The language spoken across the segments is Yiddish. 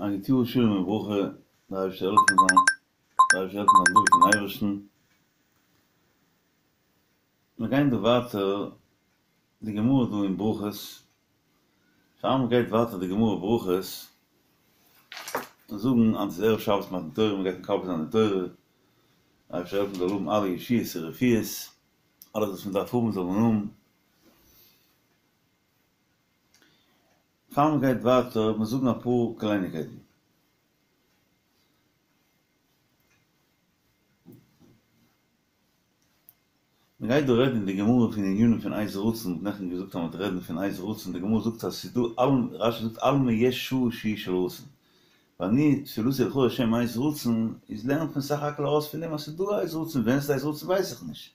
א גוט יאר שלום וברכה, דער אייבערשטער זאל העלפן זיין, דער אייבערשטער זאל העלפן זיין דבוק אין אייבערשטן. מיר גייען דא ווייטער די גמרא דא אין ברכות, פאר מען גייט ווייטער די גמרא ברכות, זאגן אז ס'איז ערב שבת מתן תורה, מען גייט מקבל זיין די תורה, דער אייבערשטער זאל העלפן מ'זאל האבן אלע ישועות און רפואות, אלעס וואס מען דארף האבן זאל מען האבן. פאר מען גייט ווייטער מיר זאגן אפאר קלייניקייטן. מען גייט דא רעדן אין די גמרא פון ענינים פון עת רצון, מ'האט נעכטן געזאגט אז מען וועט רעדן פון עת רצון, די גמרא זאגט אז ס'איז דא אלמ, רש"י זאגט אלמא יש שעה שהיא של רצון, ואני תפילתי לך השם עת רצון, איז לערנט מען סך הכל ארויס פון דעם אז ס'איז דא עת רצון, ווען ס'איז עת רצון ווייס איך נישט.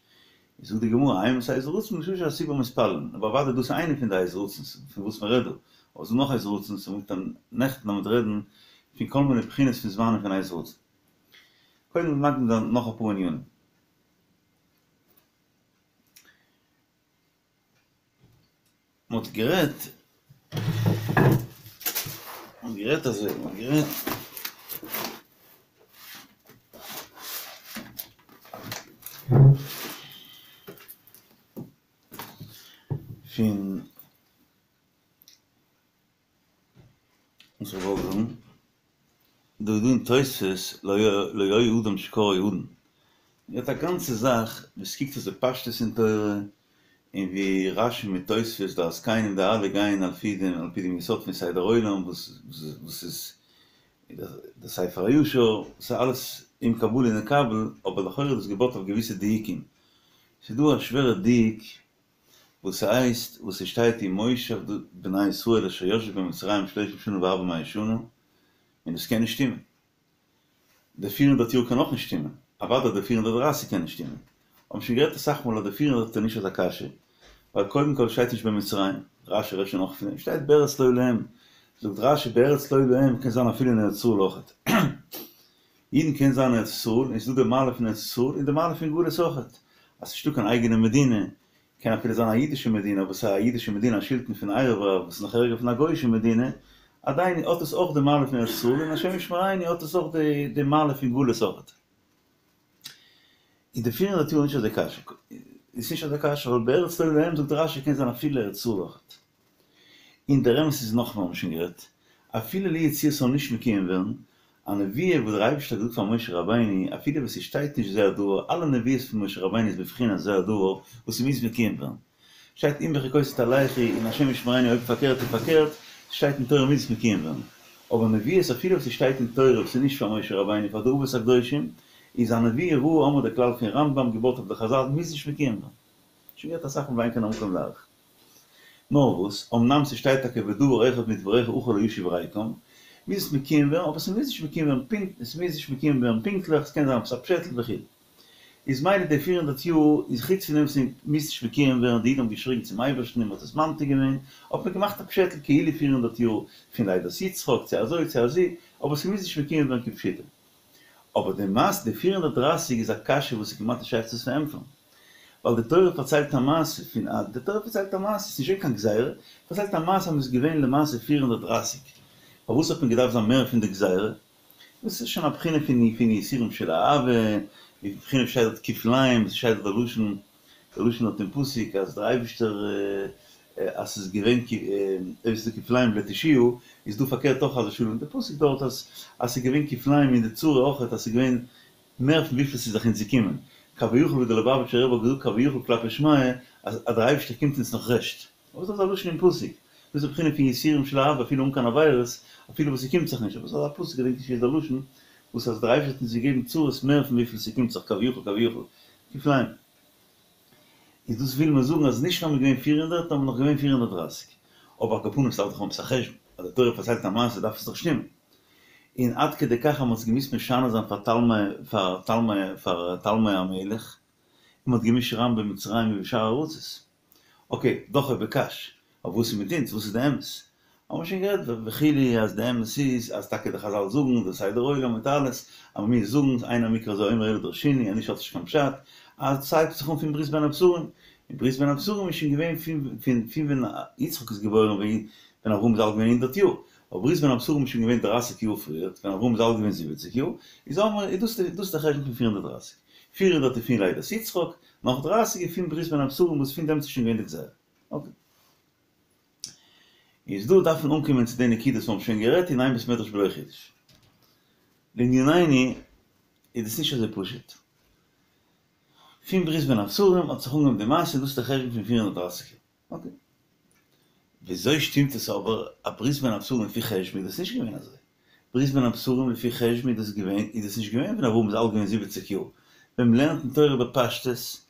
זאגט די גמרא, אימתי עת רצון בשעה שהציבור מתפללין, אבער אוודאי דאס איז איינע פון די עת רצון'ס פון וואס מען רעדט דא, אבער ס'איז דא נאך עת רצון'ס, און מ'וועט נעכטן מ'וועט רעדן פון כל מיני בחינות פון זמנים פון עת רצון. קודם מקדים זיין נאך אפאר ענינים. מ'האט גערעדט, מ'האט גערעדט אזוי, מ'האט גערעדט. פון וואס איך וואלט זאגן, דא איז דא אין תוספות לא היה אדם שקראו אדון, מ'האט א גאנצע זאך וואס קוקט אויס די פשטות אין תורה, און ווי רש"י מיט תוספות דעת זקנים די אלע גייען על פי דעם על פי דעם יסוד פון סדר עולם וואס וואס איז די ספר הישר, ס'איז אלעס אם קבלה נקבל, אבער לכאורה איז דאס געבויט אויף געוויסע דיוקים, ס'איז דא א שווערע דיוק וואס ס'הייסט וואס ס'שטייט ומושב בני ישראל אשר ישבו במצרים שלשים שנה וארבע מאות שנה, און דאס קען נישט שטימען. די פיר הונדערט יאר קען אויך נישט שטימען. אוודאי די 430 קען נישט שטימען. האבן שוין גערעדט אסאך מאל אז די 400 איז נישט אזא קשיא, ווייל קודם כל שטייט נישט במצרים, רש"י רעדט שוין אויך פון דעם, שטייט בארץ לא להם, זאגט רש"י בארץ לא להם קען זיין אפילו אין ארץ ישראל אויכעט. אידן קען זיין אין ארץ ישראל, און ס'איז דא די מעלה פון ארץ ישראל און די מעלה פון גלות אויכעט, אז ס'נישטא קיין אייגענע מדינה, קען אפילו זיין א אידישע מדינה, אבער ס'איז א אידישע מדינה א שלטון פון ערב רב וואס איז נאך ערגער פון א גוי'אישע מדינה, עדיין האט עס אויך די מעלה פון ארץ ישראל און השם ישמרינו האט עס אויך די מעלה פון גלות אויכעט. איז די פיר הונדערט יאר נישט אזוי קשה, איז נישט אזוי קשה ווייל בארץ לא להם זאגט רש"י קען זיין אפילו ארץ ישראל אויכעט. און דער אמת איז נאכמער האבן שוין גערעדט, אפילו לו יצוייר ס'זאל נישט מקוים ווערן, א נבואה וואס דער אייבערשטער האט געזאגט פאר משה רבינו, אפילו ווען ס'שטייט נישט זה הדבר, אלע נבואות פון משה רבינו איז בבחינת זה הדבר וואס ס'מוז מקוים ווערן. שטייט אם בחוקותי תלכו און השם ישמרינו אויב פארקערט איז פארקערט, ס'שטייט אין תורה מוז עס מקוים ווערן. אבער נבואות אפילו וואס ס'שטייט אין תורה וואס איז נישט פאר משה רבינו פאר די אבות הקדושים, איז א נבואה רעה האמיר די כלל פון רמב"ם געבויט אויף די חז"ל מוז נישט מקוים ווערן. שוין גערעדט אסאך מאל ואין כאן המקום להאריך. נאר וואס, אמנם ס'שטייט טאקע ודבר אחד מדבריך אחור לא ישוב ריקם, מוז עס מקוים ווערן, אבער ס'מוז נישט מקוים ווערן פונקט, ס'מוז נישט מקוים ווערן פונקטליך, ס'קען זיין עפעס א פשעטל וכו'. איז מילא די פיר הונדערט יאר איז חוץ פון דעם ס'מוז נישט מקוים ווערן, די אידן האבן געשריגן צום אייבערשטן און מ'האט עס ממתיק געווען, האט מען געמאכט א פשעטל כאילו פיר הונדערט יאר פון לידת יצחק צו אזוי צו אזי, אבער ס'מוז נישט מקוים ווערן כפשוטו. אבער די מעשה די 430 איז א קשיא וואס איז כמעט נישט שייך צו פארענטפערן. ווייל די תורה פארציילט א מעשה פון א, די תורה פארציילט א מעשה, ס'איז נישט געווען קיין גזירה, פארציילט א מעשה אז מ'איז געווען למעשה 430. פארוואס האט מען געדארפט זיין מער פון די גזירה? דאס איז שוין א בחינה פון פון יסורים של אהבה, די בחינה וואס שטייט דארט כפליים, עס שטייט דארט די לשון, די לשון דארט אין פסוק אז דער אייבערשטער אז ס'איז געווען אויב ס'איז דא כפליים לתושיה, איז דא פארקערט אויך חס ושלום, די פסוק דארט אז אז ס'איז געווען כפליים אין די צרה אויכעט אז ס'איז געווען מער פון וויפיל ס'איז זיך אונז געקומען, כביכול ווי די ליובאוויטשער רבי האט געזאגט כביכול כלפי שמיא אז אז דער אייבערשטער קומט אונז נאך רעשט, אבער דאס איז א לשון אין פסוק, דאס איז די בחינה פון יסורים של אהבה אפילו אן קיין עבירות, אפילו וואס ס'קומט זיך נישט, אבער ס'איז א פסוק געדענק נישט ווי איז דער לשון, וואס אז דער אייבערשטער האט אונז געגעבן צרות מער פון וויפיל ס'קומט זיך כביכול כביכול, כפליים. איז דאס וויל מען זאגן אז נישט נאר מ'איז געווען 400 נאר מ'איז נאך געווען 430. אבער על כל פנים ס'דארף דאך האבן עפעס א חשבון, אז די תורה פארציילט א מעשה דארף עס דאך שטימען. און עד כדי כך אז מ'האט עס געמוזט משנה זיין פאר תלמי פאר תלמי פאר תלמי המלך, און מ'האט געמוזט שרייבן במצרים ובשאר ארצות. אקעי, דוחה בקש, אבער וואס איז מיט אונז? וואס איז די אמת? האבן מיר שוין גערעדט וכו' אז די אמת איז אז טאקע די חזל זאגן די סדר עולם מיט אלעס, אז מען מוז זאגן אין המקרא הזה אומר אלא דרשיני אז נישט האט נישט קיין פשט, אז ס'הייבט זיך אן פון ברית בין הבתרים, און ברית בין הבתרים איז שוין געווען פון פון פון ווען יצחק איז געבוירן ווען אברהם איז אלט געווען הונדערט יאר. אבער ברית בין הבתרים איז שוין געווען דרייסיג יאר פריער, ווען אברהם איז אלט געווען זיבעציג יאר, איז האמער, איז דאס דאס דער חשבון פון 430. 400 איז פון לידת יצחק, נאך דרייסיג איז פון ברית בין הבתרים וואס פון דעמאלטס איז שוין געווען די גזירה. אקעי. איז דא דארף מען אנקומען צו די נקודות וואס מיר האבן שוין גערעדט אין איין בית מדרש בלא חידוש. לענינינו איז דאס נישט אזוי פשוט. פון ברית בין הבתרים האט זיך אנגעהויבן די מעשה, דאס איז די חשבון פון 430 יאר. אקעי. וויאזוי שטימט עס אבער א ברית בין הבתרים לפי חשבון איז דאס נישט געווען אזוי. ברית בין הבתרים לפי חשבון איז דאס געווען איז דאס נישט געווען ווען אברהם איז אלט געווען זיבעציק יאר. ווען מ'לערנט אין תורה בפשטות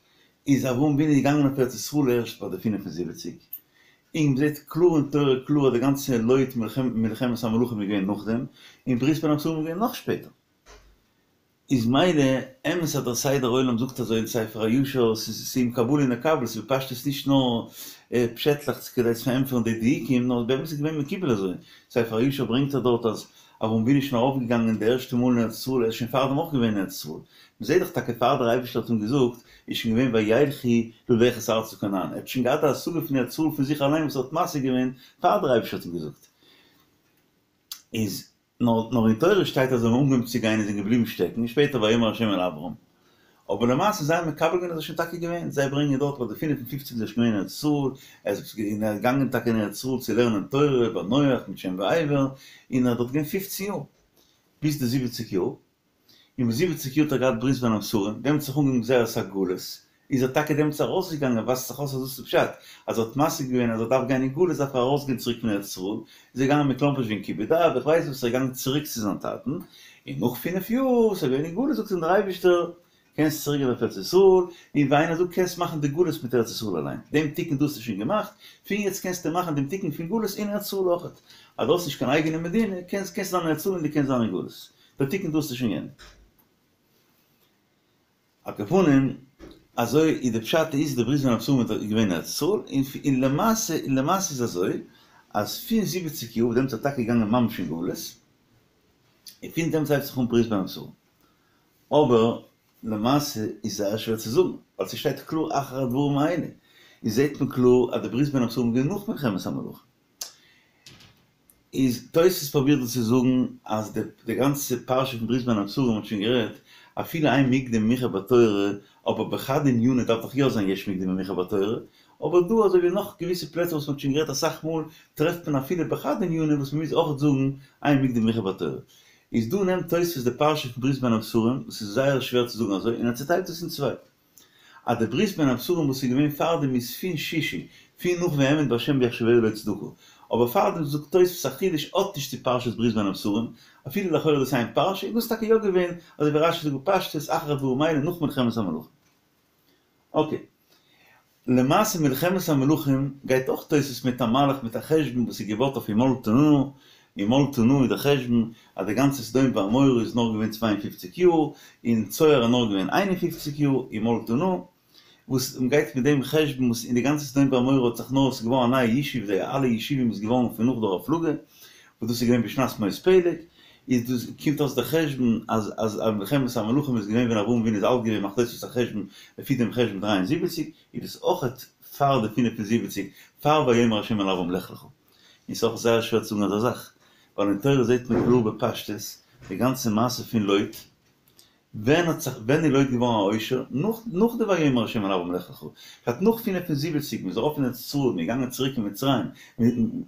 איז אברהם אבינו געגאנגען אויף ארץ ישראל ערשט ביי די 75, און מ'זעט קלאר אין תורה קלאר אז די גאנצע לוט מלחמת המלכים איז געווען נאכדעם, און ברית בין הבתרים איז געווען נאך שפעטער. איז מילא אמת אז דער סדר עולם זאגט אזוי אין ספר הישר, ס'איז אם קבלה נקבל, ס'איז בפשטות נישט נאר פשעטלעך כדי צו פארענטפערן די דיוקים, נאר באמת איז געווען מקובל אזוי, ספר הישר ברענגט ער דארט אז אברהם אבינו איז שוין ארויפגעגאנגען די ערשטע מאל אין ארץ ישראל, ער איז שוין פארדעם אויך געווען אין ארץ ישראל, מ'זעט דאך טאקע פאר דער אייבערשטער האט אים געזאגט איז שוין געווען וילכו ללכת ארצה כנען, ער האט שוין געהאט א השגה פון ארץ ישראל פון זיך אליין וואס ער האט משיג געווען פאר דער אייבערשטער האט אים געזאגט. איז נאר נאר אין תורה שטייט אז זיי האבן אנגעהויבן צו גיין און זענען געבליבן שטעקן און שפעטער ויאמר ה' אל אברם. אבער למעשה זיי האבן מקבל געווען אז ער איז שוין טאקע געווען, זיי ברענגען דארט ביי די 55 איז ער שוין געווען אין ארץ ישראל, ער איז געגאנגען טאקע אין ארץ ישראל צו לערנען תורה ביי נח מיט שם ועבר, און ער איז דארט געווען פופצן יאר, ביז די זיבעציק יאר. און ביי זיבעציק יאר האט ער געהאט ברית בין הבתרים, דעמאלטס האט זיך אנגעהויבן גזירת הגלות, איז ער טאקע דעמאלטס ארויסגעגאנגען, ווייזט זיך אויס אז דאס איז פשט, אז ער האט משיג געווען אז ער דארף גיין אין גלות דארף ער ארויסגיין צוריק פון ארץ ישראל, איז ער געגאנגען מכלומרשט וועגן כיבוד אב, איך ווייס וואס, ער איז געגאנגען צוריק צו זיין טאטן, און נאך פינף יאר וואס ער איז געווען אין גלות זאגט אים דער אייבערשטער, קענסט צוריק גיין אויף ארץ ישראל, און ווי איינער זאגט קענסט מאכן די גלות מיט ארץ ישראל אליין, דעם תיקון דא האסטו שוין געמאכט, פון יעצט קענסטו מאכן דעם תיקון פון גלות אין ארץ ישראל אויכעט, אז דו האסט נישט קיין אייגענע מדינה, קענסט קענסט זיין אין ארץ ישראל און דו קענסט זיין אין גלות. דער תיקון דא האסטו שוין געענדיגט. על כל פנים, אזוי איז די פשט איז די ברית בין הבתרים איז געווען אין ארץ ישראל, און למעשה און למעשה איז אזוי אז פון זיבעציק יאר דעמאלטס איז ער טאקע געגאנגען ממש אין גלות, און פון דעמאלטס הייבט זיך אן ברית בין הבתרים. אבער למעשה איז זייער שווער צו זאגן, ווייל ס'שטייט קלאר אחר הדברים האלה, איז זעט מען קלאר אז די ברית בין הבתרים איז געווען נאך מלחמת המלכים. איז תוס' פרובירט דא צו זאגן אז די די גאנצע פרשה פון ברית בין הבתרים האט שוין גערעדט אפילו אין מוקדם ומאוחר בתורה, אבער בחד ענינא דארף דאך יא זיין יש מוקדם ומאוחר בתורה, אבער דא אזוי ווי נאך געוויסע פלעצער וואס מ'האט שוין גערעדט אסאך מאל טרעפט מען אפילו בחד ענינא וואס מ'מוז אויך זאגן אין מוקדם ומאוחר בתורה. איז דא נעמט תוס' די פרשה פון ברית בין הבתרים וואס איז זייער שווער צו זאגן אזוי און ער צוטיילט עס אין צוויי. אז די ברית בין הבתרים וואס איז געווען פארדעם איז פון שישי, פון נאך והאמין בה' ויחשבה לו צדקה. אבער פארדעם זאגט תוספות א חידוש האט נישט צו פרשת ברית בין הבתרים, אפילו לכאורה דאס איין פרשה, איז דאס טאקע יא געווען, אזוי ווי רש"י זאגט בפשטות, אחר הדברים האלה נאך מלחמת המלכים. אקעי. למעשה מלחמת המלכים גייט אויך תוספות מיט א מהלך מיט א חשבון וואס איז געבויט אויף המלתה נא, המלתה נא איז די חשבון אז די גאנצע סדום ועמורה איז נאר געווען 52 יאר, און צוער איז נאר געווען 51 יאר, המלתה נא, וואס מ'גייט מיט דעם חשבון וואס אין די גאנצע סדום ועמורה האט זיך נאר ס'איז געווארן א נייע ישוב די אלע ישובים איז געווארן פון נאך דור הפלגה, וואס דאס איז געווען בשנת מות פלג, איז דאס קומט אויס די חשבון אז אז מלחמת המלכים איז געווען ווען אברהם אבינו איז אלט געווען מאכט תוספות א חשבון לפי דעם חשבון 73, איז דאס אויכעט פאר די 75 פאר ויאמר ה' אל אברם לך לך. און ס'איז אויך זייער שווער צו זאגן אזא זאך, ווייל אין תורה זעט מען קלאר בפשטות די גאנצע מעשה פון לוט, ווען האט זיך ווען איז לוט געווארן א עושר? נאך נאך די ויאמר ה' אל אברם לך לך, פשט נאך 75 מ'איז ארויף אין ארץ ישראל מ'איז געגאנגען צוריק אין מצרים,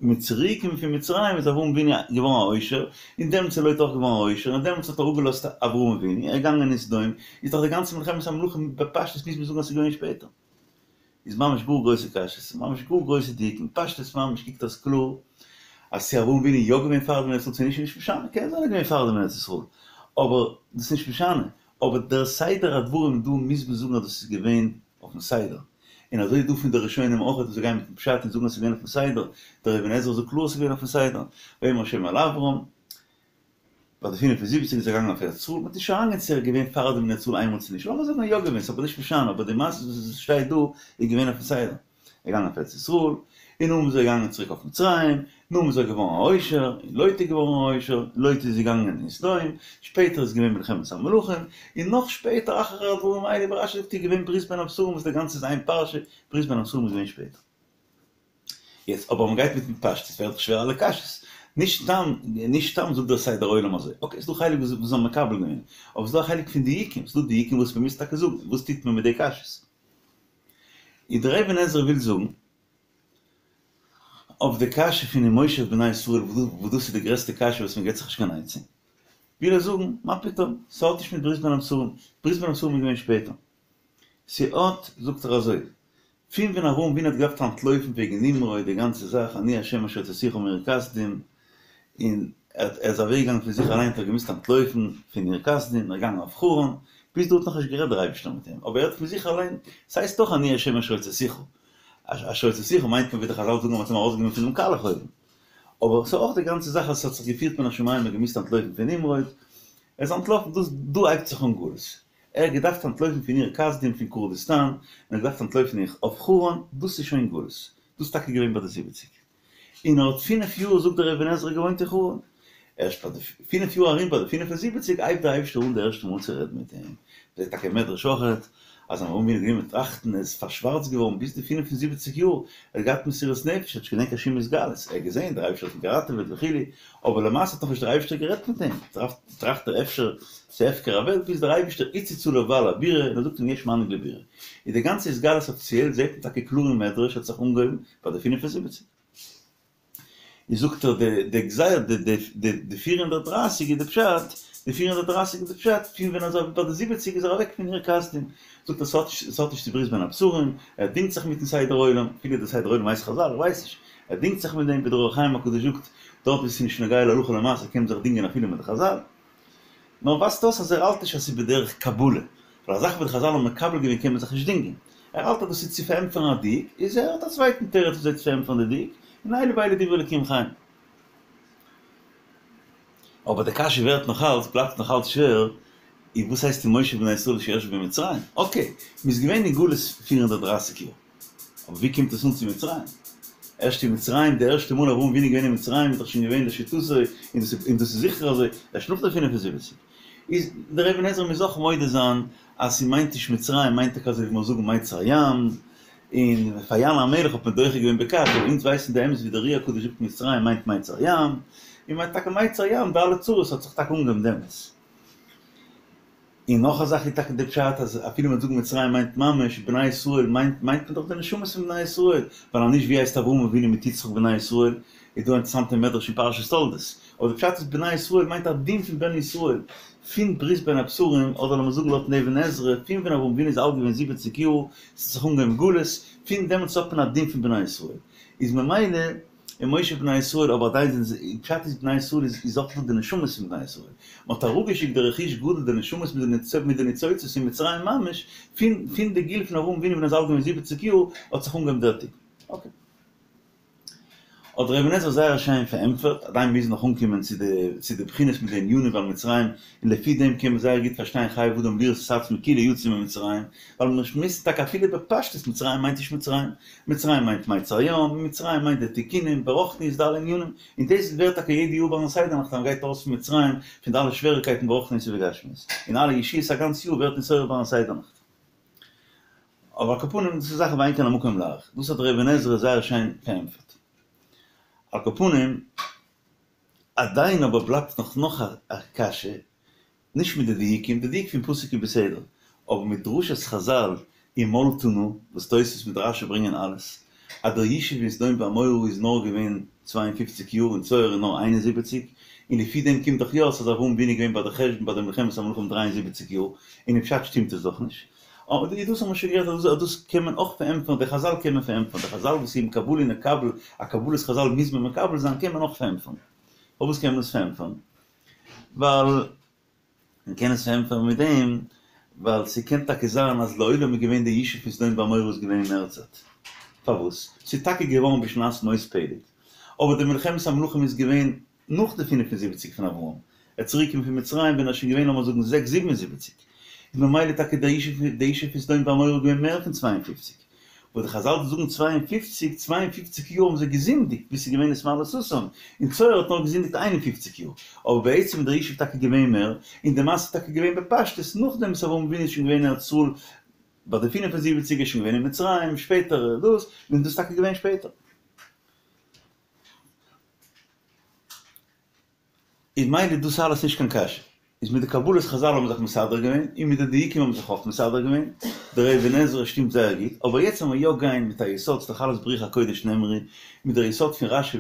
מ'איז צוריק געקומען פון מצרים איז אברהם אבינו געווארן א עושר, און דעמאלטס איז לוט אויך געווארן א עושר, און דעמאלטס האט ער אפגעלאזט אברהם אבינו, ער איז געגאנגען אין סדום, איז דאך די גאנצע מלחמת המלכים בפשטות מוז מען זאגן אז ס'איז געווען שפעטער. איז ממש גאר גרויסע קשיות, ממש גאר גרויסע דיוקים, פשטות ממש קוקט אויס קלאר אז צו אברהם אבינו איז יא געווען פאר דעם אין ארץ ישראל צו נישט איז נישט משנה, קען זיין ער איז געווען פאר דעם אין ארץ ישראל, אבער דאס איז נישט משנה, אבער דער סדר הדברים דא מוז מען זאגן אז דאס איז געווען אויפן סדר, און אזוי איז דא פון די ראשונים אויך וואס זיי גייען מיטן פשט און זאגן אז ס'איז געווען אויפן סדר, דער אבן עזרא זאגט קלאר אז ס'איז געווען אויפן סדר, ויאמר ה' אל אברם. ביי די 75 איז ער געגאנגען אויף ארץ ישראל, מ'האט נישט אריינגיין צו ער איז געווען פאר דעם אין ארץ ישראל איינמאל צו נישט, לאמיר זאגן ער איז יא געווען, ס'איז אבער נישט משנה, אבער די מעשה וואס עס שטייט דא איז געווען אויפן סדר, ער איז געגאנגען אויף ארץ ישראל, און נאכדעם איז ער געגאנגען צוריק אויף מצרים, נאכדעם איז ער געווארן א עושר, און לוט איז געווארן א עושר, לוט איז געגאנגען אין סדום, שפעטער איז געווען מלחמת המלכים, און נאך שפעטער אחר הדברים האלה ווי רש"י זאגט איז געווען ברית בין הבתרים וואס די גאנצע איז איין פרשה, ברית בין הבתרים איז געווען שפעטער. יעצט אבער מ'גייט מיטן פשטות ווערט דאך שווער אלע קשיות. נישט סתם, נישט סתם זאגט דער סדר עולם אזוי. אקעי, ס'דא חלק וואס זיי האבן מקבל געווען, אבער ס'דא א חלק פון דיוקים, ס'דא דיוקים וואס מ'מוז טאקע זאגן, וואס טוט מען מיט די קשיות? איז דער אבן עזרא וויל זאגן, אויף די קשיא פון ומושב בני ישראל, וואס דאס איז די גרעסטע קשיא וואס מ'געט זיך נישט קיין עצה, וויל ער זאגן, מה פתאום, ס'האט נישט מיט ברית בין הבתרים, ברית בין הבתרים איז געווען שפעטער. ס'האט, זאגט ער אזוי, פון ווען אברהם אבינו האט געדארפט אנטלויפן וועגן נמרוד די גאנצע זאך אני ה' אשר הוצאתיך מאור כשדים, און ער איז אוועק געגאנגען פון זיך אליין האט ער געמוזט אנטלויפן פון אור כשדים און ער איז געגאנגען אויף חרן, ביז דא האט נאכנישט גערעדט דער אייבערשטער מיט אים, אבער ער האט פון זיך אליין, ס'הייסט דאך אני ה' אשר הוצאתיך, אשר הוצאתיך מיינט מען ווי די חזל זאגן אז מ'האט אים ארויסגענומען פונעם קאלעך אויוון, אבער ס'איז אויך די גאנצע זאך אז ס'האט זיך געפירט מן השמים מ'האט געמוזט אנטלויפן פון נמרוד, ער איז אנטלאפן, דאס דא הייבט זיך אן גלות. ער האט געדארפט אנטלויפן פון אור כשדים פון קורדיסטאן, און ער האט געדארפט אנטלויפן אויף חרן, דאס איז שוין גלות, דאס איז טאקע געווען ביי די זיבעציג, און ער האט פינף יאר זאגט דער אבן עזרא געוואוינט אין חרן, ערשט ביי די פינף יאר ארום ביי די פינף און זיבעציג הייבט דער אייבערשטער אן די ערשטע מאל צו רעדן מיט אים, זעט טאקע אין מדרש אויכעט אז אברהם אבינו האט גענומען טראכטן ער איז פארשווארצט געווארן ביז די פינף און זיבעציג יאר, ער האט געהאט מסירות נפש, ער האט נישט געדענקט קיין שום התגלות, ער האט געזען דער אייבערשטער האט אים געראטעוועט וכו', אבער למעשה האט נאכנישט דער אייבערשטער גערעדט מיט אים, טראכט ער אפשר ס'הפקר הוועלט ביז דער אייבערשטער הציץ עליו בעל הבירה און ער זאגט אים יש מנהיג לבירה. איז די גאנצע התגלות אפיציעל זעט מען טאקע קלאר אין מדרש האט זיך אנגעהויבן ביי די פינף און זיבעציג. איז זאגט ער די די גזירה די די די די פיר הונדערט דרייסיג איז די פשט די פיר הונדערט דרייסיג איז די פשט פון ווען אזוי ביי די זיבעציג איז ער אוועק פון אור כשדים זאגט ער ס'האט נישט ס'האט נישט צו ברית בין הבתרים ער דינגט זיך מיטן סדר עולם אפילו די סדר עולם הייסט חזל איך ווייס נישט ער דינגט זיך מיט דעם ווי דער אור החיים הקדוש זאגט דארט ווי ס'איז נישט נוגע להלכה למעשה קען מען זיך דינגען אפילו מיט די חזל. נאר ווייזט אויס אז ער האלט נישט אז ס'איז בדרך קבלה, ווייל א זאך וואס די חזל האבן מקבל געווען קען מען זיך נישט דינגען. ער האלט אז דאס איז צו פארענטפערן א דיוק, איז ער האט א צווייטן תירוץ וויאזוי צו פארענטפערן די דיוק, און אלו ואלו דברי אלקים חיים. אבער די קשיא ווערט נאך אלץ, בלייבט נאך אלץ שווער, איז וואס הייסט ומושב בני ישראל שישבו במצרים? אקעי, מ'איז געווען אין גלות פיר הונדערט דרייסיג יאר. אבער ווי קומט עס אן צו מצרים? ערשט אין מצרים, די ערשטע מאל אברהם אבינו איז געווען אין מצרים איז דאך שוין געווען לשיטתו, און דאס איז זיכער אזוי, ערשט נאך די פינף און זיבעציק. איז דער אבן עזרא מוז אויך מודה זיין אז ס'מיינט נישט מצרים, מיינט טאקע אזוי ווי מיר זאגן מיצר הים, און פאר ים המלח האט מען דוחה געווען בקש, אבער אונז ווייסן די אמת ווי דער אר"י הקדוש זאגט מצרים מיינט מיצר הים, און מיינט טאקע מיצר הים, די אלע צרות האט זיך טאקע אנגעהויבן דעמאלטס. און נאך א זאך איז טאקע די פשט אז אפילו מ'וועט זאגן מצרים מיינט ממש בני ישראל מיינט מיינט מען דאך די נשמות פון בני ישראל, ווייל אז נישט ווי הייסט אברהם אבינו מיט יצחק בני ישראל, איז דא א אינטערעסאנטע מדרש אין פרשת תולדות, אבער די פשט איז בני ישראל מיינט א דין פון בן ישראל, פון ברית בין הבתרים, אדער לאמיר זאגן לויטן אבן עזרא, פון ווען אברהם אבינו איז אלט געווען זיבעציג יאר, ס'האט זיך אנגעהויבן גלות, פון דעמאלטס האט מען א דין פון בני ישראל, איז ממילא. ומושב בני ישראל, אבער עדיין זענען זיי, פשט איז בני ישראל איז איז אויך דא די נשמות פון בני ישראל, מען האט אראפגעשיקט די רכוש גדול די נשמות מיט די מיט די ניצוצות אין מצרים ממש, פון פון די גיל פון אברהם אבינו ווען ער איז אלט געווען זיבעציק יאר האט זיך אנגעהויבן דער תיקון. אקעי. האט דער אבן עזרא זייער שיין פארענטפערט, עדיין מוז נאך אנקומען צו די צו די בחינות מיט די ענינים ווייל מצרים, און לפי דעם קען מען זייער גוט פארשטיין חייב אדם לראות את עצמו כאילו יצא ממצרים, ווייל מען שמועסט טאקע אפילו בפשטות מצרים מיינט נישט מצרים, מצרים מיינט מיצר הים, און מצרים מיינט די תיקונים ברוחניות די אלע ענינים, און דאס ווערט טאקע יעדע יאר ביים סדר נאכט אז מען גייט ארויס פון מצרים פון די אלע שוועריקייטן ברוחניות ובגשמיות, און אלע ישועות א גאנץ יאר ווערט נתעורר ביים סדר נאכט. אבער על כל פנים דאס איז זאכן ואין כאן המקום להאריך, דאס האט דער אבן עזרא זייער שיין פארענטפערט. על כל פנים, עדיין אבער בלייבט נאך נאך א קשיא, נישט מיט די דיוקים, די דיוק פון פסוק איז בסדר, אבער מיט דרשת חזל ומלתה נא, וואס תוספות מיט רשי ברענגען אלעס, אז דער ישוב אין סדום ועמורה איז נאר געווען צוויי און פופציק יאר און צוער איז נאר 71, און לפי דעם קומט דאך יא אויס אז אברהם אבינו איז געווען ביי די חשבון ביי די מלחמת המלכים 73 יאר, און אין פשט שטימט עס דאך נישט. אבער דאס האבן מיר שוין גערעדט אז דאס קען מען אויך פארענטפערן, די חזל קען מען פארענטפערן, די חזל וואס אם קבלה נקבל, א קבלת חזל מוז מען מקבל זיין קען מען אויך פארענטפערן. פארוואס קען מען עס פארענטפערן? ווייל מען קען עס פארענטפערן מיט דעם, ווייל ס'קען טאקע זיין אז לעולם איז געווען די ישוב פון סדום ועמורה איז געווען מער צייט. פארוואס? ס'איז טאקע געווארן בשנת מות פלג, אבער די מלחמת המלכים איז געווען נאך די פינף און זיבעציק פון אברהם, ער איז צוריק געקומען פון מצרים ווען ער איז שוין געווען לאמיר זאגן זעקס זיבן און זיבעציק, איז ממילא טאקע דער ישוב די ישוב פון סדום ועמורה איז געווען מער פון צוויי און פופציק, וואס די חזל זאגן צוויי און פופציק, צוויי און פופציק יאר האבן זיי געזינדיגט ביז ס'איז געווען נתמלא סאסון, און צוער האט נאר געזינדיגט איין און פופציק יאר, אבער בעצם איז דער ישוב טאקע געווען מער, און די מעשה איז טאקע געווען בפשטות נאכדעם וואס אברהם אבינו איז שוין געווען אין ארץ ישראל ביי די פינף און זיבעציק איז שוין געווען אין מצרים, שפעטער דאס, און דאס איז טאקע געווען שפעטער. איז מילא דאס אלעס נישט קיין קשיא. איז מיט די קבלת חזל האבן זיך מסדר געווען, און מיט די דיוקים האבן זיך אויך מסדר געווען, דער אבן עזרא שטימט זייער גוט, אבער יעצט וועלן מיר יא גיין מיט א יסוד, ס'דאך אלעס ברוח הקודש נאמרו, מיט דער יסוד פון רשי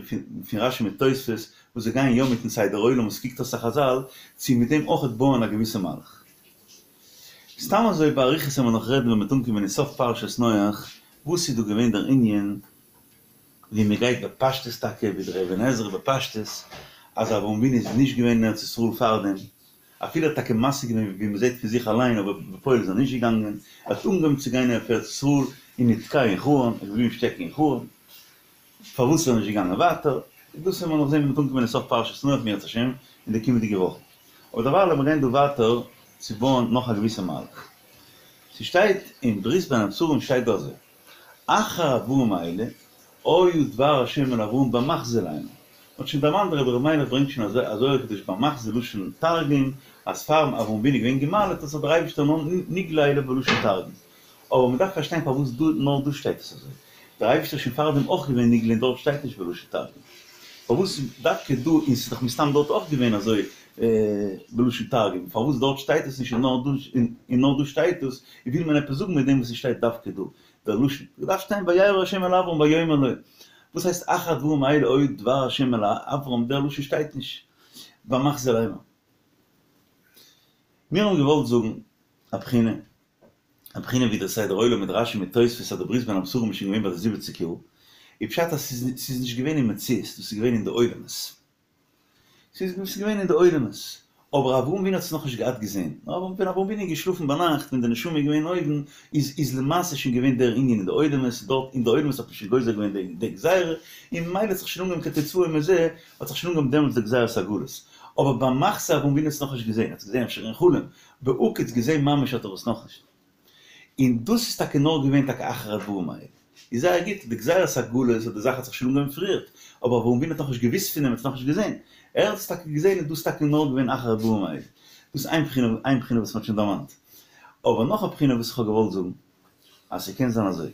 פון רשי מיט תוספות, וואס זיי גייען יא מיטן סדר עולם וואס קוקט אויס א חזל, צו מיט דעם אויכעט בויען א געוויסע מהלך. סתם אזוי באריכות וועלן מיר נאך רעדן ווען מ'וועט אנקומען אין סוף פרשת נח, וואס איז דא געווען דער ענין, ווי מען גייט בפשטות טאקע ווי דער אבן עזרא בפשטות אז אברהם אבינו איז נישט געווען אין ארץ ישראל פארדעם, אפילו ער האט טאקע משיג געווען ווי מען זעט פון זיך אליין אבער בפועל איז ער נישט געגאנגען, ער האט אנגעהויבן צו גיין אויף ארץ ישראל און נתקע אין חרן, ער איז געבליבן שטעקן אין חרן, פארוואס איז ער נישט געגאנגען ווייטער, דאס וועלן מיר נאך זען ווען מ'וועט אנקומען אין סוף פרשת נח אם ירצה השם אין די קומענדיגע וואכן, אבער דערווייל לאמיר גיין דא ווייטער צו בויען נאך א געוויסע מהלך. ס'שטייט אין ברית בין הבתרים שטייט דא אזוי. אחר הדברים האלה, היה דבר השם אל אברהם במחזה לאמר. מ'האט שוין דערמאנט דער רבי ר' מיילעך ברענגט שוין א זוהר הקדוש במחזה לשון תרגום, אז פאר אברהם אבינו איז געווען גע'מל'ט האט זיך דער אייבערשטער נאר נגלה אליו בלשון תרגום. אבער מ'דארף פארשטיין פארוואס דא נאר דא שטייט עס אזוי. דער אייבערשטער איז שוין פארדעם אויך געווען נגלה און דארט שטייט נישט בלשון תרגום. פארוואס דווקא דא און ס'איז דאך מסתם דארט אויך געווען אזוי בלשון תרגום, פארוואס דארט שטייט עס נישט און נאר דא שטייט עס, וויל מען עפעס זאגן מיט דעם וואס עס שטייט דווקא דא דער לשון, געדארפט שטיין וירא ה' אל אברם ויאמר לו, וואס הייסט אחר הדברים האלה היה דבר ה' אל אברם, דער לשון שטייט נישט במחזה לאמר. מיר האבן געוואלט זאגן א בחינה, א בחינה ווי דער סדר עולם מיט רשי מיט תוספות אז די ברית בין הבתרים איז שוין געווען ביי די זיבעציג יאר, איז פשט אז ס'איז נישט געווען אין מציאות, דאס איז געווען אין די עולמות. ס'איז געווען אין די עולמות, אבער אברהם אבינו האט עס נאכנישט געהאט געזען, נאר ווען אברהם אבינו איז געשלאפן ביינאכט ווען די נשמה איז געווען אויבן, איז איז למעשה שוין געווען דער ענין אין די עולמות, דארט אין די עולמות האט מען שוין גוזר געווען די גזירה, און ממילא האט זיך שוין אנגעהויבן כתוצאה מזה האט זיך שוין אנגעהויבן דעמאלטס די גזירת הגלות, אבער במחזה אברהם אבינו האט עס נאכנישט געזען, ער האט עס געזען אפשר אין חלום, בהקיץ געזען ממש האט ער עס נאכנישט. און דאס איז טאקע נאר געווען טאקע אחר הדברים האלה. איז זייער גוט, די גזירת הגלות אט די זאך האט זיך שוין אנגעהויבן פריערט, אבער אברהם אבינו האט נאכנישט געוואוסט פון דעם, ער האט עס נאכנישט געזען. ער האט עס טאקע געזען און דאס איז טאקע נאר געווען אחר הדברים האלה. דאס איז איין בחינה, איין בחינה וואס מ'האט שוין דערמאנט. אבער נאך א בחינה וואס איך האב געוואלט זאגן, אז ס'קען זיין אזוי.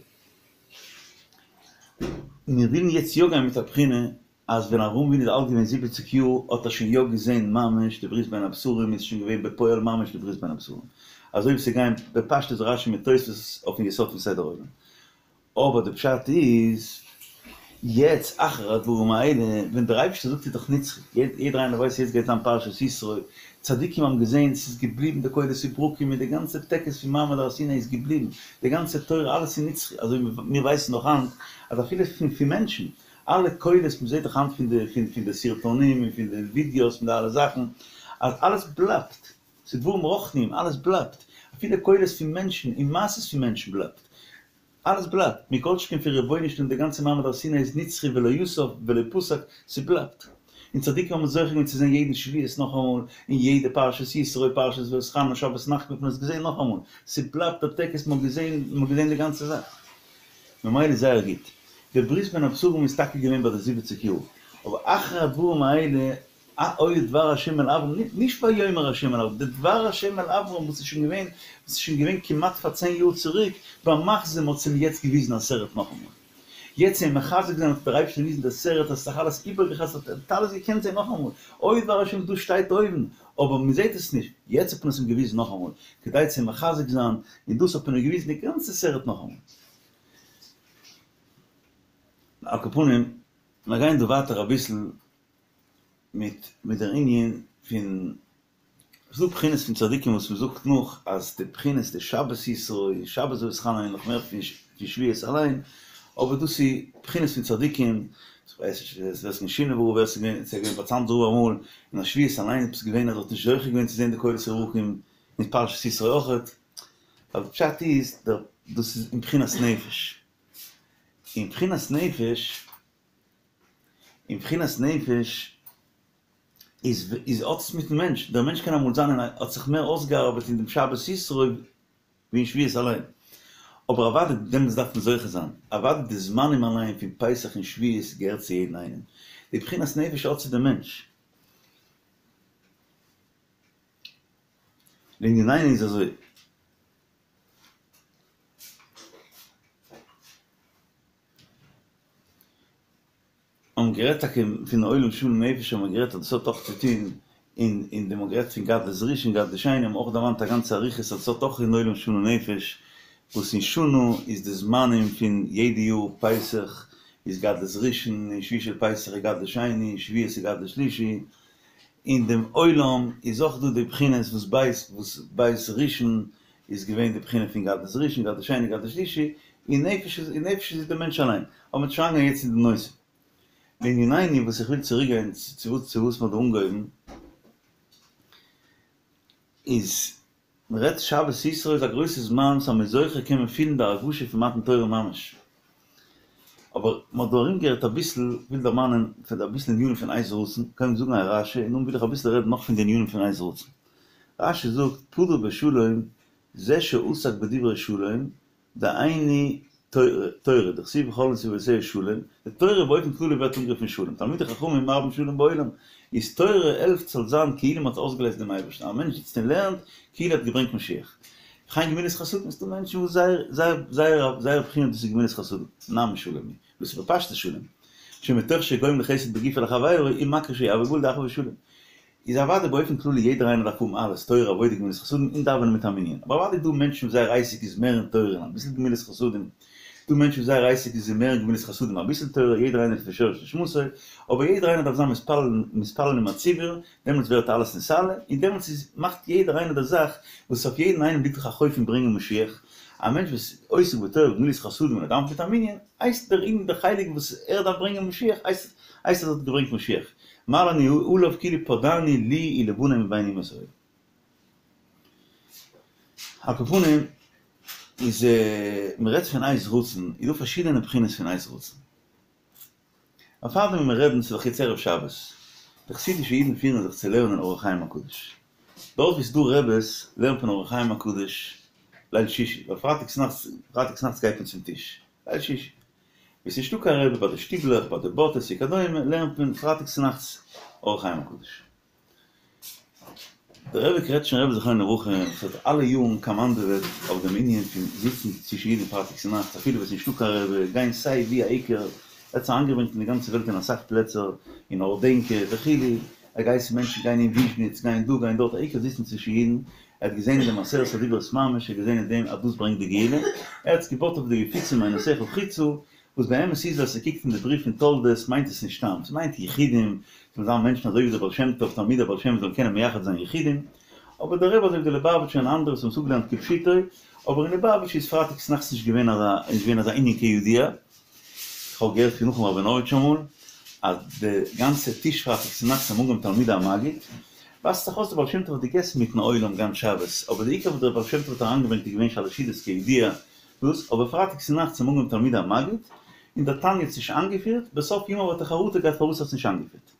מיר ווילן יעצט יא גיין מיט א בחינה אז ווען אברהם אבינו איז אלט געווען זיבעציג יאר האט ער שוין יא געזען ממש די ברית בין הבתרים איז שוין געווען בפועל ממש די ברית בין הבתרים אזוי ווי ס'גייען בפשטות רשי מיט תוספות אויפן יסוד פון סדר עולם אבער די פשט איז יעצט אחר הדברים האלה ווען דער אייבערשטער זאגט איז דאך נצחי יעדער איינער ווייסט יעצט גייט זיין פרשת יתרו צדיקים האבן געזען ס'איז געבליבן די קולות וברקים מיט די גאנצע טקס פון מעמד הר סיני איז געבליבן די גאנצע תורה אלעס איז נצחי אזוי ווי מיר ווייסן נאך היינט אז אפילו פון מענטשן אלע קולות, מ'זעט דאך היינט פון די פון די סרטונים און פון די ווידיאוס פון די אלע זאכן, אז אלעס בלייבט, ס'איז דברים רוחניים, אלעס בלייבט, אפילו קולות פון מענטשן און מעשות פון מענטשן בלייבט, אלעס בלייבט, מכל שכן פון רבונו של עולם די גאנצע מעמד הר סיני איז נצחי ולא יסוף ולא פסק, ס'בלייבט. און צדיקים האבן זוכה געווען צו זען יעדן שבועות נאכאמאל, און יעדע פרשת יתרו, פרשת ואתחנן, שבת נחמו האט מען עס געזען נאכאמאל, ס'בלייבט דער טקס, מ'האט געזען, מ'האט געזען די גאנצע זאך. ממילא זייער גוט. דער ברית בין הבתרים איז טאקע געווען ביי די זיבעציג יאר, אבער אחר הדברים האלה היה דבר השם אל אברהם, נישט ויאמר השם אל אברהם, די דבר השם אל אברהם וואס איז שוין געווען, וואס איז שוין געווען כמעט פאר צען יאר צוריק, במחזה מ'האט עס אים יעצט געוויזן א סרט נאכאמאל. יעצט אים מחזק זיין האט דער אייבערשטער געוויזן די סרט אז ס'איז זיך אלעס איבערגעחזרט, ער האט אלעס געקענט זען נאכאמאל, היה דבר השם דאס שטייט אויבן, אבער מען זעט עס נישט, יעצט האט מען עס אים געוויזן נאכאמאל, כדי צו מחזק זיין, און דאס האט מען אים געוויזן די גאנצע סרט נאכאמאל. על כל פנים, מיר גייען דא ווייטער אביסל מיט מיט דער ענין פון, ס'איז דא בחינות פון צדיקים וואס מען זאגט נאך אז די בחינות די שבת יתרו, שבת ואתחנן איז נאך מער פון שבועות אליין, אבער דאס איז בחינות פון צדיקים, כ'ווייס נישט ווער ס'איז געווען שינאווער רב, ווער ס'איז געווען, ס'איז געווען ביי צאנזער רב אמאל, און א שבועות אליין איז עפעס געווען אז ער האט נישט זוכה געווען צו זען די קולות וברקים אין פרשת יתרו אויכעט, ווייל די פשט איז דער דאס איז אין בחינת נפש, אין בחינת נפש, אין בחינת נפש איז איז האט עס מיטן מענטש, דער מענטש קען אמאל זיין און האט זיך מער אויסגעארבעט אין דעם שבת יתרו ווי אין שבועות אליין, אבער אוודאי דעמאלטס דארף מען זוכה זיין, אוודאי די זמנים אליין פון פסח און שבועות געהערט צו יעדן איינעם, די בחינת נפש האט צו דעם מענטש. לענינינו איז אזוי. האבן גערעדט טאקע פון עולם שלם נפש האבן מיר גערעדט אז דאס האט אויך צו טון. און אין דעם האט גערעדט פון גדלות ראשון גדלות שני האבן אויך דערמאנט א גאנצע אריכות אז עס האט אויך אין עולם שנה נפש, וואס אין שנה איז די זמנים פון יעדע יאר פסח איז גדלות ראשון און שביעי של פסח איז גדלות שני און שבועות איז גדלות שלישי, אין דעם עולם איז אויך דא די בחינות וואס בית וואס בית ראשון איז געווען די בחינה פון גדלות ראשון גדלות שני גדלות שלישי, און נפש איז און נפש איז די מענטש אליין, אבער מ'וועט שוין אריינגיין יעצט אין די נושא. לענינינו וואס איך וויל צוריק גיין צו צו וואס מ'האט דא אנגעהויבן איז מ'רעדט שבת יתרו איז א גרויסע זמן וואס אז מ'איז זוכה קען מען פילן די הרגשה פון מתן תורה ממש. אבער מ'האט דא ארומגערעדט אביסל, כ'וויל דערמאנען פון אביסל ענינים פון עת רצון, קודם זאגן א רשי און נאכדעם וויל איך אביסל רעדן נאך פון די ענינים פון עת רצון. רשי זאגט פדה בשלום זה שעסק בדברי שלום דהיינו תורה, דכתיב וכל נתיבותיה שלום, די תורה באופן כללי ווערט אנגערופן שלום, תלמידי חכמים מרבים שלום בעולם, איז תורה העלפט ס'זאל זיין כאילו מ'האט אויסגעלייזט דעם אייבערשטן, א מענטש זיצט און לערנט כאילו ער האט געברענגט משיח. וכן גמילות חסדים, ס'דא מענטשן וואס זייער זייער זייער זייער בחינה דאס איז גמילות חסדים, נמי שלום היא, דאס איז בפשטות שלום, שמתוך שגומל חסד בגופו לחבירו, הוא מקיש ויבוא גאול דאחוה ושלום. איז אוודאי באופן כללי יעדער איינער דארף האבן אלעס, תורה עבודה גמילות חסדים און דאווענען מיט א מנין, אבער אוודאי דא מענטשן וואס זייער עסק איז מער אין תורה און אביסל גמילות חסדים, דא מענטשן וואס זייער עסק איז מער אין גמילות חסדים אביסל תורה, יעדער איינער לפי שורש נשמתו, אבער יעדער איינער דארף זיין מתפלל מתפלל עם הציבור, דעמאלטס ווערט אלעס נתעלה, און דעמאלטס איז מאכט יעדער איינער די זאך וואס אויף יעדן איינעם ליגט דאך א חוב פון ברענגען משיח, א מענטש וואס עוסק בתורה וגמילות חסדים און ער דאווענט מיט א מנין, הייסט דער אין דער חלק וואס ער דארף ברענגען משיח הייסט הייסט אז ער האט געברענגט משיח, מעלה אני עליו כאילו פדאני לי ולבני מבין אומות העולם. על כל פנים איז מען רעדט פון עת רצון איז דא פארשידענע בחינות פון עת רצון. אבער פארדעם ווען מיר רעדן ס'איז דאך יעצט ערב שבת, די חסידישע אידן פירן זיך צו לערנען אור החיים הקדוש. דארט וואו ס'איז דא רעבעס לערנט מען אור החיים הקדוש ליל שישי, ווייל פרייטאג צונאכטס פרייטאג צונאכטס גייט מען צום טיש, ליל שישי. וואו ס'איז נישטא קיין רבי ביי די שטיבלעך, ביי די באטעס וכדומה, לערנט מען פרייטאג צונאכטס אור החיים הקדוש. דער רבי קרעטשנער רבי זכרונו לברכה וואס האט אלע יארן קאמאנדעוועט אויף דעם ענין פון זיצן צווישן אידן פרייטאג צונאכטס אפילו ווען ס'איז נישטא קיין רבי, גיין סיי ווי א עיקר, ער האט עס אריינגעברענגט אין די גאנצע וועלט אין אסאך פלעצער, אין הארדענקע וכו', ער האט געהייסן מענטשן גיין אין וויזשניץ, גיין דא גיין דארט, א עיקר זיצן צווישן אידן, ער האט געזען אין דעם עשרת הדיברות ממש, ער האט געזען אין דעם אז דאס ברענגט די גאולה, ער האט עס געבויט אויף די יפוצו מעינותיך חוצה, וואס באמת איז אז ס'קוקט אין די בריוו פון תולדות מיינט עס נישט סתם, ס'מיינט יחידים, ס'זאלן זיין מענטשן אזוי ווי דער בעל שם טוב, תלמידי הבעל שם זאלן קענען מייחד זיין יחידים, אבער דער רבי אזוי ווי די ליובאוויטשער און אנדערע וואס האבן עס אפגעלערנט כפשוטו, אבער אין ליובאוויטש איז פרייטאג צונאכטס נישט געווען אזא נישט געווען אזא ענין כידוע, כ'האב געהערט פון נחום ראבינאוויטש אמאל אז די גאנצע טיש פרייטאג צונאכטס האבן אנגעהויבן תלמידי המגיד, ווייזט זיך אויס דער בעל שם טוב האט געגעסן מיטן עולם גאנץ שבת, אבער די עיקר וואס דער בעל שם טוב האט אריינגעברענגט איז געווען שלש סעודות כידוע, דאס, אבער פרייטאג צונאכטס האבן אנגעהויבן תלמידי המגיד, און דער תניא האט עס נישט איינגעפירט, בסוף ימיו האט ער חרטה געהאט פארוואס ער האט עס נישט איינגעפירט.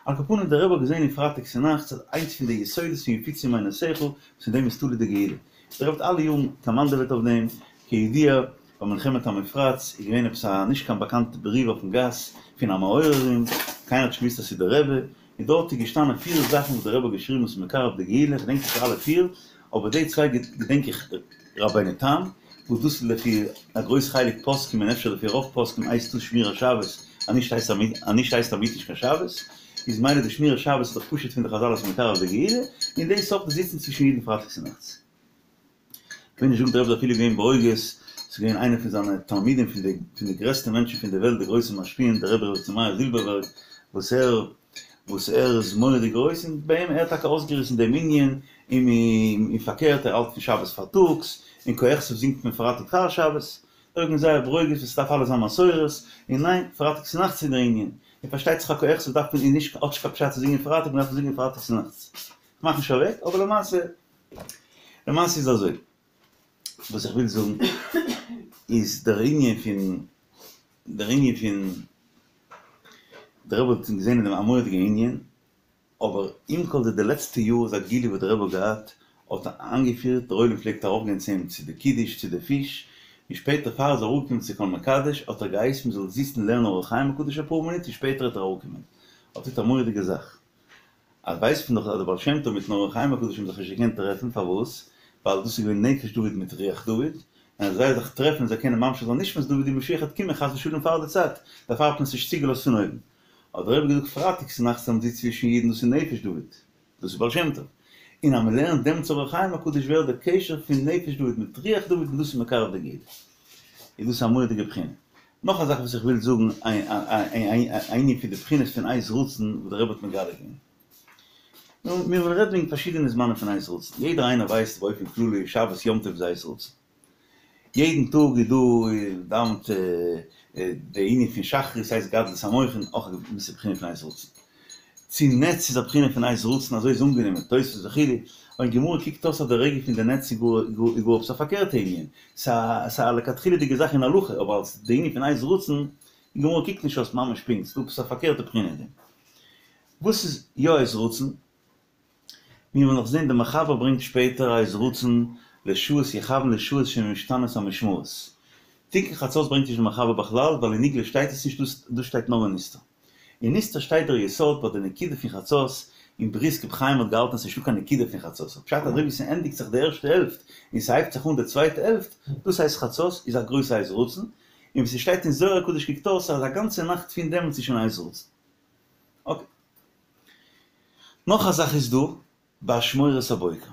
על כל פנים דער רבי האט געזען אין פרייטאג צונאכטס אז איינס פון די יסודות פון יפוצו מעינותיך וואס אין דעם איז תלוי די גאולה. דער רבי האט אלע יארן קאמאנדעוועט אויף דעם, כידוע ביי מלחמת המפרץ איז געווען עפעס א נישט קיין באקאנטע בריוו אויפן גאס פון א מעוררים, קיינער האט נישט געוואוסט אז ס'איז דער רבי, און דארט איז געשטאנען פיר זאכן וואס דער רבי האט געשריבן וואס איז מקרב די גאולה, כ'דענק נישט אלע פיר, אבער די צוויי געדענק איך רבינו תם, וואס דאס איז לפי א גרויס חלק פוסקים און אפשר לפי רוב פוסקים הייסט דאס שמירת שבת, אז נישט הייסט אז נישט הייסט א נישט קיין שבת, איז מילא די שמירת שבת איז דאך פשוט פון די חזל אז ס'איז מקרב די גאולה, און דאס אויך די זיצן צווישן אידן פרייטאג צונאכטס. כ'וויל נישט זאגן דער רבי איז אפילו געווען ברוגז, ס'איז געווען איינער פון זיינע תלמידים פון די פון די גרעסטע מענטשן פון די וועלט די גרויסע משפיעים דער רבי ר' יצחק מאיר זילבערבערג וואס ער וואס ער איז מורא'דיג גרויס און ביי אים ער האט טאקע אויסגעריסן דעם ענין און און פארקערט ער האלט פון שבת פארטאגס און כה אכתוב זינגט מען פרייטאג פאר שבת דער רבי איז געווען זייער ברוגז וואס ס'דארף אלעס זיין מסורת און ניין פרייטאג צונאכטס איז דער ענין און פארשטייט זיך א כה אכתוב דארף מען איז נישט האט נישט קיין פשט צו זינגען פרייטאג מ'דארף זינגען פרייטאג צונאכטס כ'מאך נישט אוועק אבער למעשה למעשה איז אזוי, וואס איך וויל זאגן איז דער ענין פון, דער ענין פון, דער רבי האט געזען אין דעם א מורא'דיגע ענין, אבער עם כל זה די לעצטע יאר איז א גילוי וואס דער רבי האט געהאט, האט איינגעפירט, דער עולם פלעגט ארויפגיין צו אים צו די קידוש, צו די פיש, און שפעטער פאר ער איז אראפגעקומען צו כל מקדש האט ער געהייסן מען זאל זיצן לערנען אור החיים הקדוש אפאר מינוט און שפעטער וועט ער אראפקומען, האט געטון א מורא'דיגע זאך. אז ווייסט מען דאך אז דער בעל שם טוב מיטן אור החיים הקדוש האבן זיך נישט געקענט טרעפן, פארוואס? ווייל דאס איז געווען נפש דוד מיט רוח דוד, און אז זיי זיך טרעפן זיי קענען ממשיך זיין נשמת דוד און משיח וועט קומען חס ושלום פאר די צייט, דערפאר האט מען עס נישט צוגעלאזט פון אויבן. האט דער רבי געזאגט פרייטאג צונאכטס אז מ'זיצט צווישן אידן דאס איז נפש דוד. דאס איז בעל שם טוב. און אז מען לערנט דעם אור החיים הקדוש ווערט דער קשר פון נפש דוד מיט רוח דוד און דאס איז מקרב די גאולה. איז דאס א מורא'דיגע בחינה. נאך א זאך וואס איך וויל זאגן, א ענין פון די בחינות פון עת רצון וואס דער רבי האט מגלה געווען. נו, מיר וועלן רעדן וועגן פארשידענע זמנים פון עת רצון. יעדער איינער ווייסט באופן כללי שבת יום טוב איז עת רצון. יעדן טאג איז דא דאווענט די ענין פון שחרית הייסט גדלות המוחין אויך א געוויסע בחינה פון עת רצון. צו נץ איז א בחינה פון עת רצון אזוי איז אנגענומען, תוספות וכו', אבער אין גמרא קוקט אויס אז די רגע פון די נץ איז גאר עפעס א פארקערטע ענין, ס'איז א לכתחילה'דיגע זאך אין הלכה, אבער אלס די ענין פון עת רצון, אין גמרא קוקט נישט אויס ממש פונקט, ס'איז דא עפעס א פארקערטע בחינה אין דעם. וואס איז יא עת רצון? מיר וועלן נאך זען דער מחבר ברענגט שפעטער עת רצון לשעות יכוון לשעות שמשתנות המשמרות. תיקון חצות ברענגט נישט דער מחבר בכלל ווייל אין נגלה שטייט עס נישט דאס דאס שטייט נאר אין נסתר. אין נסתר שטייט דער יסוד ביי די נקודה פון חצות, אין בריסק רבי חיים האט געהאלטן אז ס'נישטא קיין נקודה פון חצות, פשט אזוי ווי ס'ענדיגט זיך די ערשטע העלפט און ס'הייבט זיך אן די צווייטע העלפט, דאס הייסט חצות איז א גרויסע עת רצון, און ווי ס'שטייט אין זוהר הקדוש קוקט אויס אז א גאנצע נאכט פון דעמאלטס איז שוין עת רצון. אקעי. נאך א זאך איז דא באשמורת הבוקר.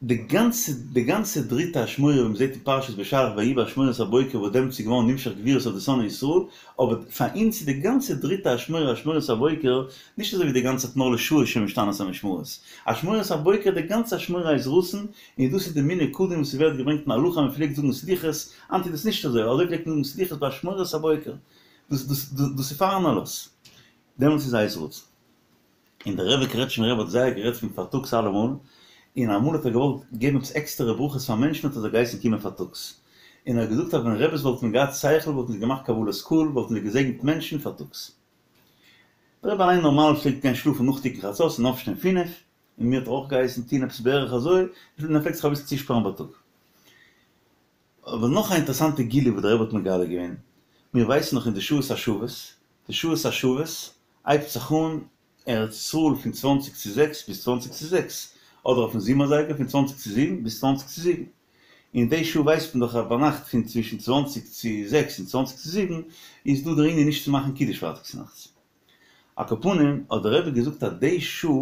די גאנצע די גאנצע דריטע אשמורה ווי מ'זעט אין פרשת בשלח ויהי באשמורת הבוקר וואס דעמאלטס איז געווארן נמשך גבורות אויף די שונאי ישראל, אבער פאר אונז איז די גאנצע דריטע אשמורה אשמורת הבוקר נישט אזוי ווי די גאנצע נאר לשעות שמשתנות המשמרות. אשמורת הבוקר די גאנצע אשמורה עת רצון, און דאס איז די מנהג קדום וואס ס'ווערט געברענגט אין הלכה מ'פלעגט זאגן סליחות, היינט איז דאס נישט אזוי, אזוי פלעגט מען זאגן סליחות באשמורת הבוקר, דאס דאס דאס איז פארן עלות. דעמאלטס איז עת רצון. און דער רבי קרעטשמער רבי האט זייער גערעדט פון פארטאגס אלעמאל, און אמאל האט ער געוואלט געבן עפעס עקסטערע ברכות פאר מענטשן האט ער זיי געהייסן קומען פארטאגס, און ער האט געזאגט אז ווען רביס וואלטן געהאט שכל וואלטן זיי געמאכט קבלת קהל וואלטן זיי געזעגנט מענטשן פארטאגס. דער רבי אליין נארמאל פלעגט גיין שלאפן נאך תיקון חצות און אויפשטיין פינף, און מיר האט ער אויך געהייסן טון עפעס בערך אזוי, און ער פלעגט זיך אביסל צושפארן בייטאג. אבער נאך א אינטערעסאנטע גילוי וואס דער רבי האט מגלה געווען, מיר ווייסן נאך אין די שעות השוות, די שעות השוות הייבט זיך אן ארץ ישראל פון צוואנציג צו זעקס ביז צוואנציג צו זעקס, אדער אויפן זומער זייגער פון צוואנציג צו זיבן ביז צוואנציג צו זיבן, אין די שעה ווייסט מען דאך אז ביינאכט פון צווישן צוואנציג צו זעקס און צוואנציג צו זיבן איז דא דער ענין נישט צו מאכן קידוש פרייטאג צונאכטס. על כל פנים האט דער רבי געזאגט אז די שעה,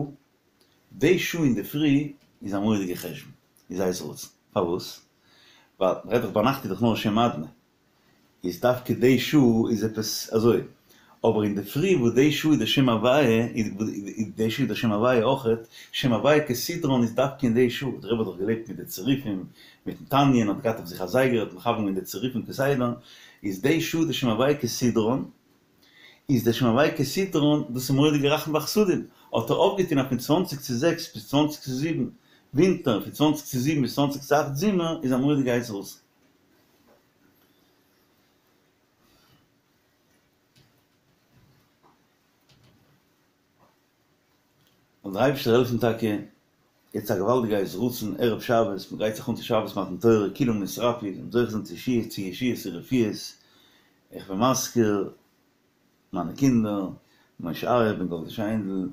די שעה אינדערפרי איז א מורא'דיגע חשבון, איז עת רצון. פארוואס? ווייל מ'רעדט דאך ביינאכט איז דאך נאר שם אדנ"י, איז דווקא די שעה איז עפעס אזוי, אבער אינדערפרי וואס די שעה איז די שם הוויה, איז די שעה איז די שם הוויה אויכעט, שם הוויה כסדרן איז דווקא אין די שעה, דער רבי האט דאך געלעבט מיט די צירופים, מיטן תניא, און האט געהאט אויף זיך א זייגער, האט מכוון געווען די צירופים כסדרן, איז די שעה די שם הוויה כסדרן, איז דער שם הוויה כסדרן, דאס איז מורא'דיגע רחמים וחסדים, האט ער אויפגעטון אז פון צוואנציג צו זעקס ביז צוואנציג צו זיבן ווינטער, פון צוואנציג צו זיבן ביז צוואנציג צו אכט זומער, איז א מורא'דיגע עת רצון. זאל דער אייבערשטער העלפן טאקע, יעצט א געוואלדיגע עת רצון, ערב שבת, מען גרייט זיך אן צו שבת מתן תורה, כולם נתרפאו, זאלן זוכה זיין צו ישועות און רפואות, איך בין מזכיר מיינע קינדער, משה אריה בן גאלדע שיינדל,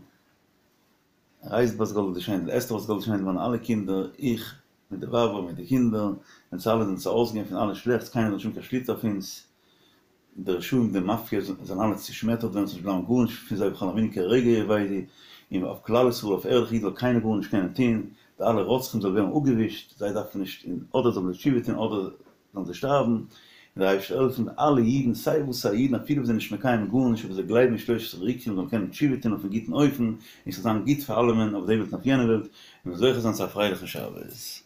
רייזל בת גאלדע שיינדל, אסתר בת גאלדע שיינדל, מיינע אלע קינדער, איך מיט די ווייב און מיט די קינדער, אונז אלע זאלן ארויסגיין פון אלע שלעכטס, קיינער זאל נישט האבן קיין שליטה אויף אונז, די רשעים די מאפיא זאלן אלע צושמעטערט ווערן, ס'זאל נישט בלייבן גארנישט פון זיי וכל המינים כרגע יאבדו, און אויף כלל ישראל אויף ערליכע אידן זאל קיינער גארנישט קענען טון, די אלע רוצחים זאלן ווערן אפגעווישט, זיי דארפן נישט, אדער זאלן זיי תשובה טון אדער זאלן זיי שטארבן, און דער אייבערשטער זאל העלפן אלע אידן סיי וואס א אידן אפילו וואס זענען נישט מקיים גארנישט אבער זיי גלייבן אין שלושת עשרה עיקרים זאלן קענען תשובה טון אויפן גוטן אופן, און ס'זאל זיין גוט פאר אלעמען אויף די וועלט און אויף יענע וועלט, און זוכה זיין צו א פרייליכן שבת.